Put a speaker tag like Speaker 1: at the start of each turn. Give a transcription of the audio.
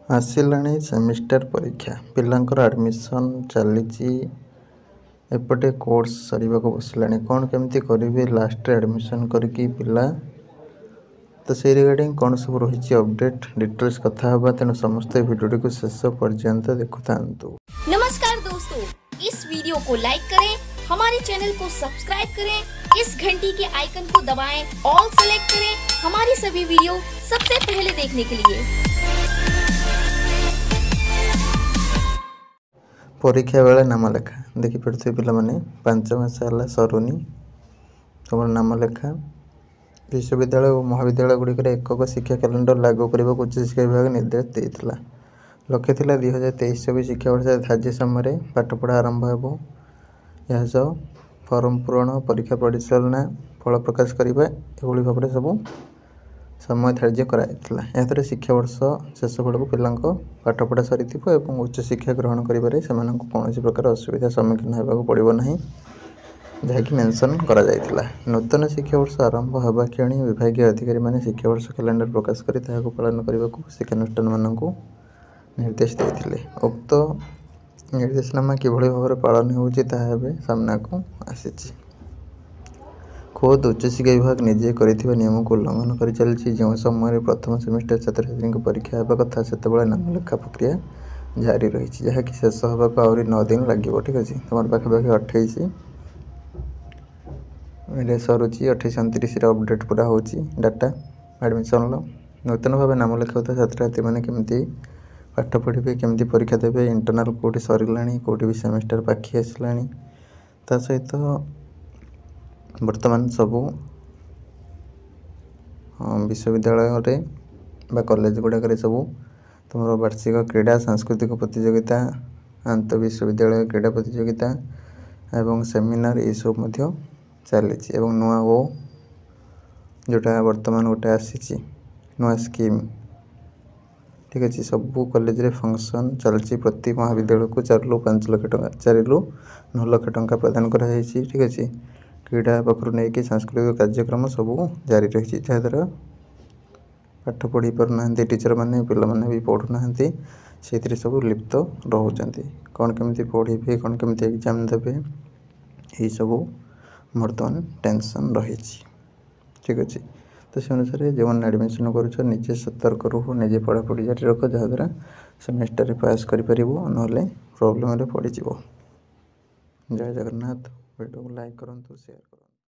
Speaker 1: ଆସିଲାଣି ସେମିଷ୍ଟାର ପରୀକ୍ଷା, ପିଲାଙ୍କର ଆଡ଼ମିସନ୍ ଚାଲିଛି, ଏପଟେ କୋର୍ସ ସରିବାକୁ ବସିଲାଣି। କ'ଣ କେମିତି କରିବେ ଲାଷ୍ଟରେ ଆଡ଼ମିସନ୍ କରିକି ପିଲା? ତ ସେଇ ରିଗାର୍ଡ଼ିଂ କ'ଣ ସବୁ ରହିଛି ଅପଡ଼େଟ୍ ଡିଟେଲ୍ସ କଥା ହେବା। ତେଣୁ ସମସ୍ତେ ଭିଡ଼ିଓଟିକୁ ଶେଷ ପର୍ଯ୍ୟନ୍ତ ଦେଖୁଥାନ୍ତୁ।
Speaker 2: नमस्कार दोस्तों, इस वीडियो को लाइक करें, हमारे चैनल को सब्सक्राइब करें, इस घंटी के आइकन को दबाएं, ऑल सेलेक्ट करें हमारी सभी वीडियो सबसे पहले देखने के लिए।
Speaker 1: ପରୀକ୍ଷା ବେଳେ ନାମଲେଖା ଦେଖିପାରୁଥିବେ ପିଲାମାନେ, 5 ମାସ ହେଲା ସରୁନି ତୁମର ନାମଲେଖା। ବିଶ୍ୱବିଦ୍ୟାଳୟ ଓ ମହାବିଦ୍ୟାଳୟ ଗୁଡ଼ିକରେ ଏକକ ଶିକ୍ଷା କ୍ୟାଲେଣ୍ଡର ଲାଗୁ କରିବାକୁ ଉଚ୍ଚଶିକ୍ଷା ବିଭାଗ ନିର୍ଦ୍ଦେଶ ଦେଇଥିଲା। ଲକ୍ଷ୍ୟ ଥିଲା 2023-24 ଶିକ୍ଷାବର୍ଷରେ ଧାର୍ଯ୍ୟ ସମୟରେ ପାଠପଢ଼ା ଆରମ୍ଭ ହେବ। ଏହା ସହ ଫର୍ମ ପୂରଣ, ପରୀକ୍ଷା ପରିଚାଳନା, ଫଳ ପ୍ରକାଶ କରିବା, ଏଭଳି ଭାବରେ ସବୁ ସମୟ ଧାର୍ଯ୍ୟ କରାଯାଇଥିଲା। ଏହାଦ୍ୱାରା ଶିକ୍ଷାବର୍ଷ ଶେଷ ବେଳକୁ ପିଲାଙ୍କ ପାଠପଢ଼ା ସରିଥିବ ଏବଂ ଉଚ୍ଚଶିକ୍ଷା ଗ୍ରହଣ କରିବାରେ ସେମାନଙ୍କୁ କୌଣସି ପ୍ରକାର ଅସୁବିଧା ସମ୍ମୁଖୀନ ହେବାକୁ ପଡ଼ିବ ନାହିଁ, ଯାହାକି ମେନସନ୍ କରାଯାଇଥିଲା। ନୂତନ ଶିକ୍ଷାବର୍ଷ ଆରମ୍ଭ ହେବା କ୍ଷଣି ବିଭାଗୀୟ ଅଧିକାରୀମାନେ ଶିକ୍ଷାବର୍ଷ କ୍ୟାଲେଣ୍ଡର ପ୍ରକାଶ କରି ତାହାକୁ ପାଳନ କରିବାକୁ ଶିକ୍ଷାନୁଷ୍ଠାନମାନଙ୍କୁ ନିର୍ଦ୍ଦେଶ ଦେଇଥିଲେ। ଉକ୍ତ ନିର୍ଦ୍ଦେଶନାମା କିଭଳି ଭାବରେ ପାଳନ ହେଉଛି, ତାହା ଏବେ ସାମ୍ନାକୁ ଆସିଛି। ଖୋଦ୍ ଉଚ୍ଚଶିକ୍ଷା ବିଭାଗ ନିଜେ କରିଥିବା ନିୟମକୁ ଉଲ୍ଲଂଘନ କରିଚାଲିଛି। ଯେଉଁ ସମୟରେ ପ୍ରଥମ ସେମିଷ୍ଟାର ଛାତ୍ରଛାତ୍ରୀଙ୍କ ପରୀକ୍ଷା ହେବା କଥା, ସେତେବେଳେ ନାମଲେଖା ପ୍ରକ୍ରିୟା ଜାରି ରହିଛି, ଯାହାକି ଶେଷ ହେବାକୁ ଆହୁରି 9 ଦିନ ଲାଗିବ। ଠିକ୍ ଅଛି, ତୁମର ପାଖାପାଖି 28ରେ ସରୁଛି, 28 29ରେ ଅପଡ଼େଟ୍ ପୁରା ହେଉଛି ଡାଟା ଆଡ଼ମିସନ୍ର। ନୂତନ ଭାବେ ନାମ ଲେଖାଉଥିବା ଛାତ୍ରଛାତ୍ରୀମାନେ କେମିତି ପାଠ ପଢ଼ିବେ, କେମିତି ପରୀକ୍ଷା ଦେବେ? ଇଣ୍ଟରନାଲ୍ କେଉଁଠି ସରିଲାଣି, କେଉଁଠି ବି ସେମିଷ୍ଟାର ପାଖେଇ ଆସିଲାଣି। ତା ସହିତ ବର୍ତ୍ତମାନ ସବୁ ବିଶ୍ୱବିଦ୍ୟାଳୟରେ ବା କଲେଜ ଗୁଡ଼ାକରେ ସବୁ ତୁମର ବାର୍ଷିକ କ୍ରୀଡ଼ା, ସାଂସ୍କୃତିକ ପ୍ରତିଯୋଗିତା, ଆନ୍ତଃ ବିଶ୍ୱବିଦ୍ୟାଳୟ କ୍ରୀଡ଼ା ପ୍ରତିଯୋଗିତା ଏବଂ ସେମିନାର ଏସବୁ ମଧ୍ୟ ଚାଲିଛି। ଏବଂ ନୂଆ ଓ ଯେଉଁଟା ବର୍ତ୍ତମାନ ଗୋଟେ ଆସିଛି ନୂଆ ସ୍କିମ୍, ଠିକ୍ ଅଛି, ସବୁ କଲେଜରେ ଫଙ୍କସନ୍ ଚାଲିଛି। ପ୍ରତି ମହାବିଦ୍ୟାଳୟକୁ 4ରୁ 5 ଲକ୍ଷ ଟଙ୍କା, 4ରୁ 9 ଲକ୍ଷ ଟଙ୍କା ପ୍ରଦାନ କରାଯାଇଛି। ଠିକ୍ ଅଛି, କ୍ରୀଡ଼ା ପାଖରୁ ନେଇକି ସାଂସ୍କୃତିକ କାର୍ଯ୍ୟକ୍ରମ ସବୁ ଜାରି ରହିଛି, ଯାହାଦ୍ୱାରା ପାଠ ପଢ଼ି ପାରୁନାହାନ୍ତି ଟିଚର୍ମାନେ, ପିଲାମାନେ ବି ପଢ଼ୁନାହାନ୍ତି, ସେଇଥିରେ ସବୁ ଲିପ୍ତ ରହୁଛନ୍ତି। କ'ଣ କେମିତି ପଢ଼ିବେ, କ'ଣ କେମିତି ଏକ୍ଜାମ୍ ଦେବେ, ଏଇସବୁ ବର୍ତ୍ତମାନ ଟେନସନ୍ ରହିଛି। ଠିକ୍ ଅଛି, ତ ସେ ଅନୁସାରେ ଯେଉଁମାନେ ଆଡ଼ମିସନ୍ କରୁଛ, ନିଜେ ସତର୍କ ରୁହ, ନିଜେ ପଢ଼ାପଢ଼ି ଜାରି ରଖ, ଯାହାଦ୍ୱାରା ସେମିଷ୍ଟାରରେ ପାସ୍ କରିପାରିବ, ନହେଲେ ପ୍ରୋବ୍ଲେମରେ ପଡ଼ିଯିବ। ଜୟ ଜଗନ୍ନାଥ। ଭିଡ଼ିଓକୁ ଲାଇକ୍ କରନ୍ତୁ, ସେୟାର କରନ୍ତୁ।